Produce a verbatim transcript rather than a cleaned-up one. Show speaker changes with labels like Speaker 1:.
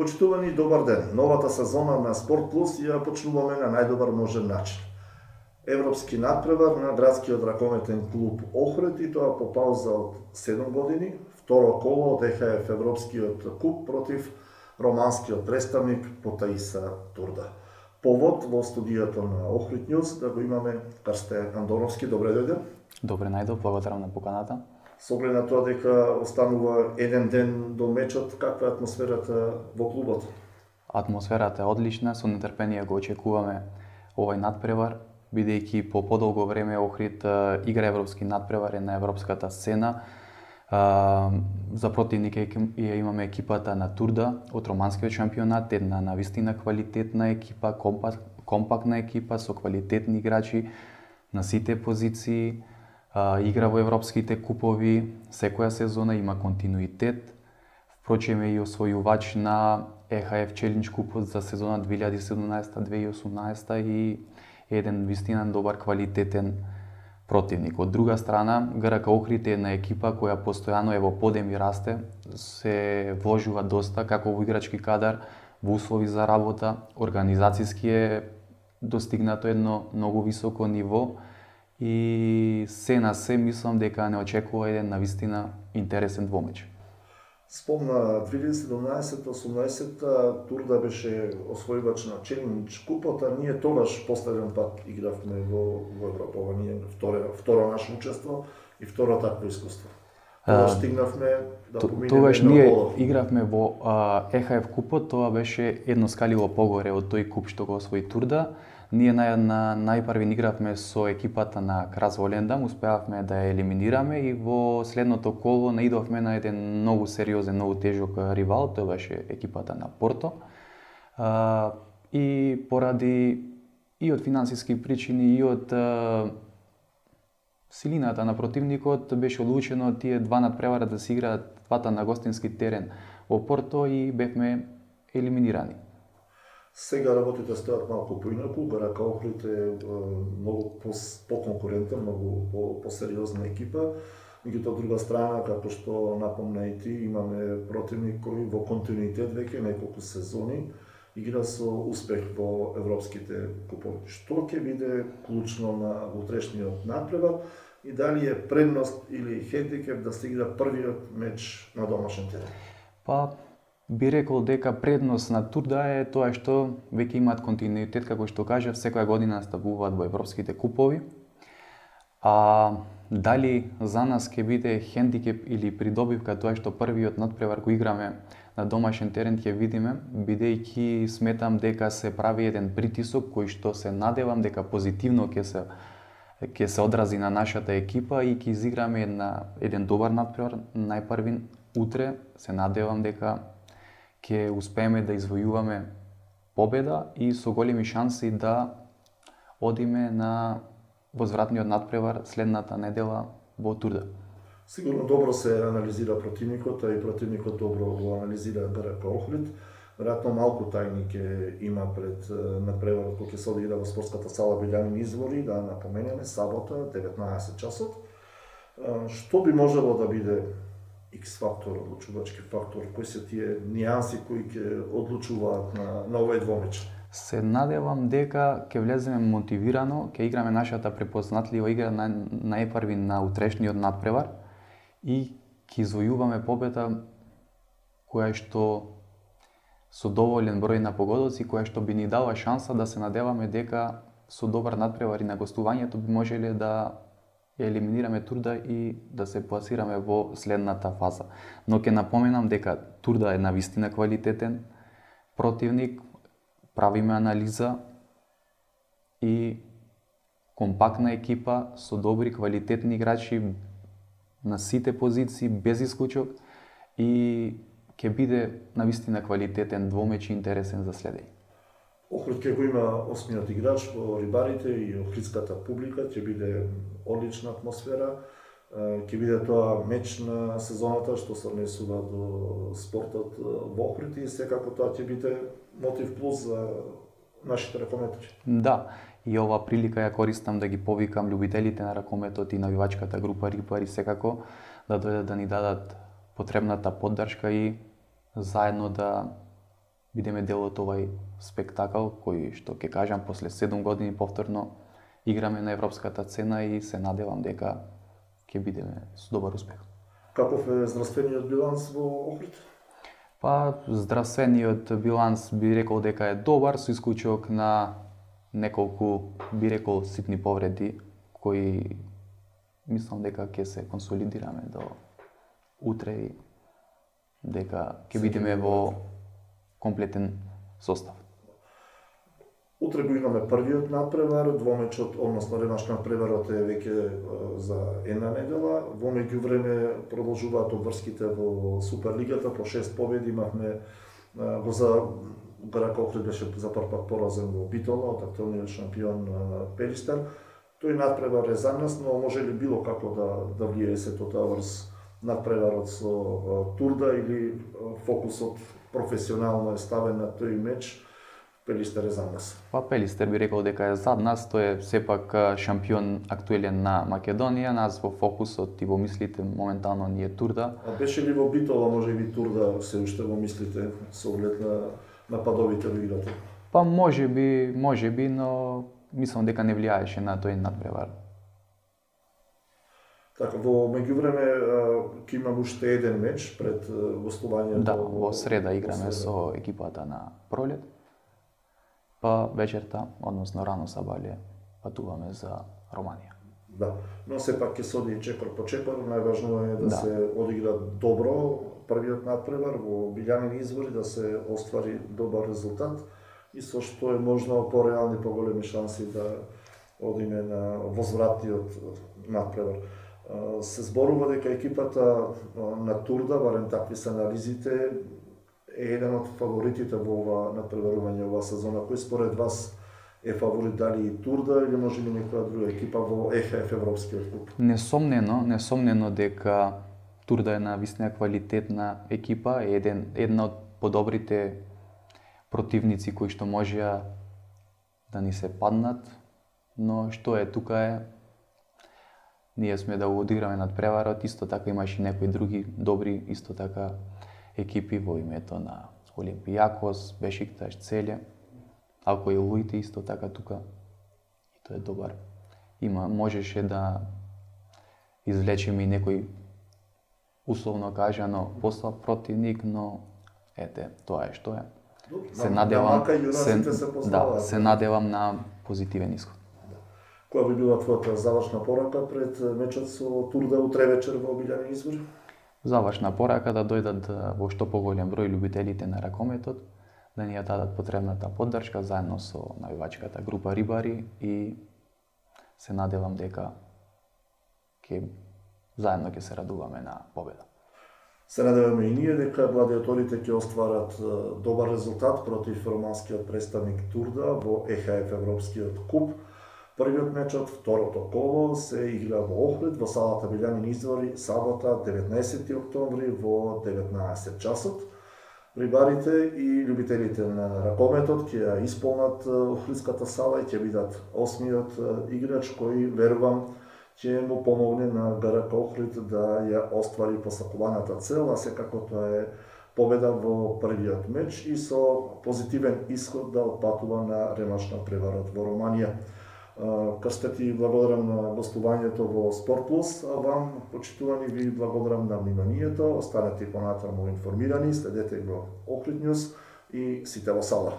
Speaker 1: Почитувани и добар ден. Новата сезона на Спорт Плюс ја почнуваме на најдобар можен начин. Европски надпревар на градскиот ракометен клуб Охрид и тоа по пауза од седум години, второ коло од Е Ха Еф Европскиот куп против романскиот представник Потаиса Турда. Повод во студијата на Охрид Ньюс да го имаме Карстен Андоновски. Добре дојде.
Speaker 2: Добре најдов, благодарам на поканата.
Speaker 1: Со оглед на тоа дека останува еден ден до мечот, каква е атмосферата во клубот?
Speaker 2: Атмосферата е одлична, со нетрпение го очекуваме овој надпревар, бидејќи по подолго време Охрид игра европски надпревари на европската сцена. За противник ја имаме екипата на Турда од романскиот шампионат, една навистина квалитетна екипа, компактна екипа со квалитетни играчи на сите позиции. Игра во европските купови, секоја сезона има континуитет. Впрочем е и освојувач на Е Ха Еф Челендж купот за сезона две илјади и седумнаесета две илјади и осумнаесета и еден вистина добар квалитетен противник. Од друга страна, Г Р К Охрид е една екипа која постојано е во подем и расте, се вложува доста како во играчки кадар, во услови за работа, организацијски е достигнато едно многу високо ниво. И се на се мислам дека не очекува еден навистина интересен двомеч.
Speaker 1: Спомна две илјади и седумнаесета осумнаесета Турда беше освојувач на Челендж купот, а ние тогаш последен пат игравме во, во Европа. Ова ние второ, второ наше учество и второ такво искуство. Тогаш стигнавме да поминеме.
Speaker 2: Тогаш ние игравме во Е Ха Еф купот, тоа беше едно скалило погоре од тој куп што го освои Турда. Ние на, на најпрви игравме со екипата на Крас Волендам, успеавме да ја елиминираме и во следното коло наидовме на еден многу сериозен, многу тежок ривал, тоа беше екипата на Порто. А, и поради и од финансиски причини и од а, силината на противникот беше одлучено тие два надпревара да се играат двата на гостински терен во Порто и бевме елиминирани.
Speaker 1: Сега работите стојат малку поинаку, Г Р К Охрид е многу по-конкурентен, многу по-сериозна екипа. Меѓутоа, од друга страна, како што напомна и ти, имаме противник кој во континуитет веќе неколку сезони игра со успех во европските купови. Што ќе биде клучно на утрешниот надпревар и дали е предност или хендикеп да се игра првиот меч на домашен терен?
Speaker 2: Па, би рекол дека предност на Турда е тоа што веќе имаат континуитет, како што кажав, секоја година настапуваат во европските купови. А дали за нас ќе биде хендикеп или придобивка тоа што првиот надпревар го играме на домашен терен ќе видиме, бидејќи сметам дека се прави еден притисок кој што се надевам дека позитивно ќе се ќе се одрази на нашата екипа и ќе изиграме една еден добар надпревар најпрви утре. Се надевам дека ќе успееме да извојуваме победа и со големи шанси да одиме на возвратниот надпревар следната недела во Турда.
Speaker 1: Сигурно добро се анализира противникот, а и противникот добро го анализира Г Р К Охрид. Веројатно малку тајни ќе има пред надпреварот кој ќе се одигра во спортската сала Билјанин извори, да напоменеме, сабота, деветнаесет часот. Што би можело да биде X-фактор, одлучувачки фактор, кои се тие нијанси кои ќе одлучуваат на, на овој двомеч?
Speaker 2: Се надевам дека ќе влеземе мотивирано, ќе играме нашата препознатлива игра на најпрви на утрешниот надпревар и ќе извојуваме победа која што со доволен број на погодоци, која што би ни дала шанса да се надеваме дека со добар надпревар и на гостувањето би можеле да ја елиминираме Турда и да се пласираме во следната фаза. Но ќе напоменам дека Турда е навистина квалитетен противник, правиме анализа и компактна екипа со добри квалитетни играчи на сите позиции без исклучок и ќе биде навистина квалитетен двомеч и интересен за следење.
Speaker 1: Охрид ќе го има осмиот играч во рибарите и охридската публика, ќе биде одлична атмосфера, ќе биде тоа меч на сезоната што се однесува до спортот во Охрид и секако тоа ќе биде мотив плюс за нашите ракометари.
Speaker 2: Да, и ова прилика ја користам да ги повикам љубителите на ракометот и навивачката група Рибари секако да дојдат да ни дадат потребната поддршка и заедно да бидеме дел од овај спектакл кој што ќе кажам после седум години повторно играме на европската сцена и се надевам дека ќе бидеме со добар успех.
Speaker 1: Каков е здравствениот биланс во Охрид?
Speaker 2: Па здравствениот биланс би рекол дека е добар со исклучок на неколку би рекол ситни повреди кои мислам дека ќе се консолидираме до утре и дека ќе бидеме во комплетен состав.
Speaker 1: Утре го имаме првиот надпревар, двомечот, односно ремаш надпреварот е веќе за една недела. Во меѓувреме продолжуваат обврските во Суперлигата, по шест победи имавме го за ГРК Охрид беше за прв пат поразен во Битола од актуелниот шампион Пелистер. Тој надпревар е за нас, но може ли било како да да влијае сето тоа врз надпреварот со Турда или фокусот професионално е ставен на тој меч? Пелистер е за нас.
Speaker 2: Па Пелистер би рекол дека е зад нас, тој е сепак шампион актуелен на Македонија, нас во фокусот и во мислите моментално ни е Турда.
Speaker 1: А беше ли во Битола може би Турда се уште во мислите со оглед на нападовите во играта?
Speaker 2: Па може би, може би, но мислам дека не влијаеше на тој надпревар.
Speaker 1: Така, во меѓувреме ќе имам уште еден меч пред гостувањето.
Speaker 2: Да, во среда играме со екипата на Пролет. Па вечерта, односно рано сабале, патуваме за Романија.
Speaker 1: Да, но сепак ќе се оди чекор по чекор, најважно е да,
Speaker 2: да
Speaker 1: се одигра добро првиот надпревар во Билјанин извори, да се оствари добар резултат и со што е можно пореални, поголеми шанси да одиме на возвратниот надпревар. Се зборува дека екипата на Турда, барем такви се анализите, е еден од фаворитите во ова надпреварување оваа сезона. Кој според вас е фаворит, дали и Турда или може би некоја друга екипа во Е Х Ф Европскиот куп?
Speaker 2: Несомнено, несомнено дека Турда е на висна квалитетна екипа, е еден една од подобрите противници кои што можеа да ни се паднат, но што е тука е ние сме да го одиграме надпреварот, исто така имаше и некои други добри исто така екипи во името на Олимпијакос, Бешикташ, Целе, ако и Луите исто така тука, и тоа е добар. Има, можеше да извлечеме и некој условно кажано послаб противник, но ете, тоа е што е. Се надевам, се, да, се надевам на позитивен исход.
Speaker 1: Која би била твојата завршна порака пред мечот со Турда утре вечер во Билјанин извори?
Speaker 2: Завршна порака да дојдат во што поголем број љубителите на ракометот, да ни ја дадат потребната поддршка заедно со навивачката група Рибари и се надевам дека ќе заедно ќе се радуваме на победа.
Speaker 1: Се надеваме и ние дека гладиаторите ќе остварат добар резултат против романскиот представник Турда во Е Х Ф Европскиот куп. Првиот мечот, второто коло, се игра во Охрид, во салата Билјанин извори, сабота, деветнаесети октомври во деветнаесет часот. Рибарите и љубителите на ракометот ќе ја исполнат Охридската сала и ќе бидат осмиот играч кој, верувам, ќе му помогне на ГРК Охрид да ја оствари посакуваната цел, а секако тоа е победа во првиот меч и со позитивен исход да отпатува на ремаш надпреварот во Романија. Крстет и благодарам на гостувањето во Спорт Плюс, а вам, почитувани, ви благодарам на вниманието. Останете понатаму информирани, следете го Охрид Нјуз и сите во сала.